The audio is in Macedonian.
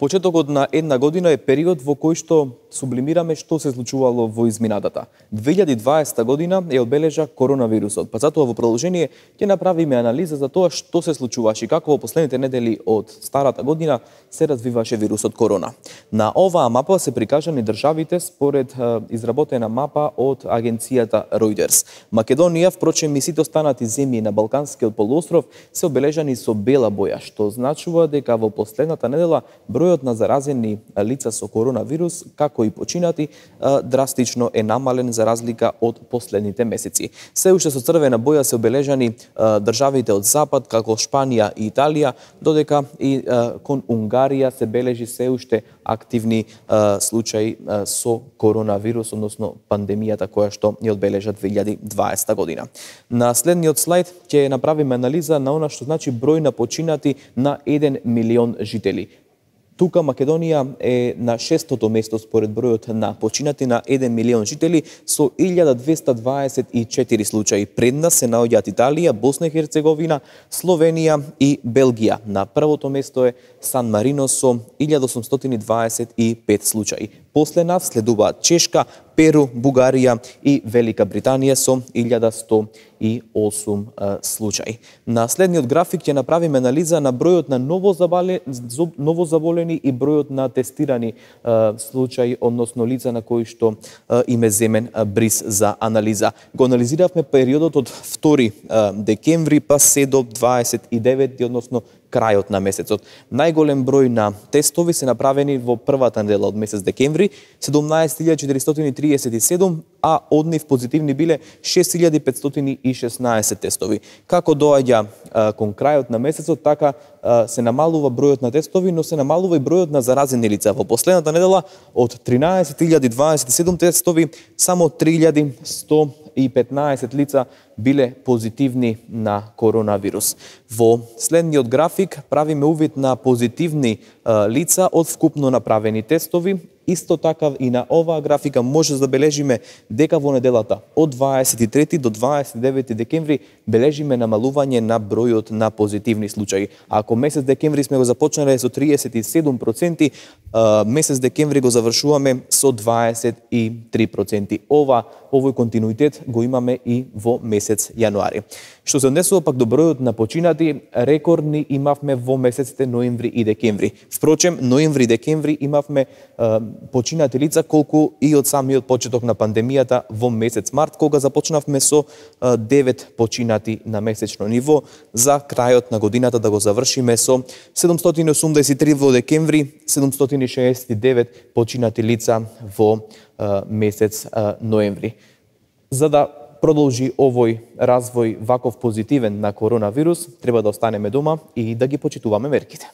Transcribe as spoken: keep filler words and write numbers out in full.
Почетокот на една година е период во кој што сублимираме што се случувало во изминатата. две илјади и дваесета година е одбележа коронавирусот, па затоа во продолжение ќе направиме анализа за тоа што се случуваше и како во последните недели од старата година се развиваше вирусот корона. На оваа мапа се прикажани државите според изработена мапа од агенцијата Reuters. Македонија, впрочем и сите останати земји на Балканскиот полуостров се обележани со бела боја, што значува дека во последната недела бројот на заразени лица со коронавирус, како и починати, драстично е намален за разлика од последните месеци. Се уште со црвена боја се обележани државите од Запад, како Шпанија и Италија, додека и кон Унгарија се бележи се уште активни случаи со коронавирус, односно пандемијата која што ја одбележа две илјади и дваесета година. На следниот слайд ќе направиме анализа на она што значи број на починати на еден милион жители. Тука Македонија е на шестото место според бројот на починати на еден милион жители со илјада двесте дваесет и четири случаи. Пред нас се наоѓаат Италија, Босна и Херцеговина, Словенија и Белгија. На првото место е Сан Марино со илјада осумстотини дваесет и пет случаи. После нас следуваат Чешка, Перу, Бугарија и Велика Британија со илјада сто и осум случаи. На следниот график ќе направиме анализа на бројот на новозаболени и бројот на тестирани случаи, односно лица на кои што им е земен бриз за анализа. Го анализиравме периодот од втори декември па се до дваесет и девети, односно крајот на месецот. Најголем број на тестови се направени во првата недела од месец декември, седумнаесет илјади четиристотини триесет и седум, а од нив позитивни биле шест илјади петстотини и шеснаесет тестови. Како доаѓа кон крајот на месецот, така а, се намалува бројот на тестови, но се намалува и бројот на заразени лица. Во последната недела од тринаесет илјади дваесет и седум тестови, само три илјади сто и петнаесет лица биле позитивни на коронавирус. Во следниот график правиме увид на позитивни а, лица од вкупно направени тестови. Исто така и на оваа графика може да забележиме дека во неделата од дваесет и трети до дваесет и девети декември бележиме намалување на бројот на позитивни случаи. Ако месец декември сме го започнале со триесет и седум проценти, месец декември го завршуваме со дваесет и три проценти. Ова, овој континуитет го имаме и во месец јануари. Што се однесува пак до бројот на починати, рекордни имавме во месеците ноември и декември. Впрочем, ноември и декември имавме починати лица колку и од самиот почеток на пандемијата во месец март, кога започнавме со девет починати на месечно ниво, за крајот на годината да го завршиме со седумстотини и осумдесет и три во декември, седумстотини и шеесет и девет починати лица во месец ноември. За да продолжи овој развој ваков позитивен на коронавирус, треба да останеме дома и да ги почитуваме мерките.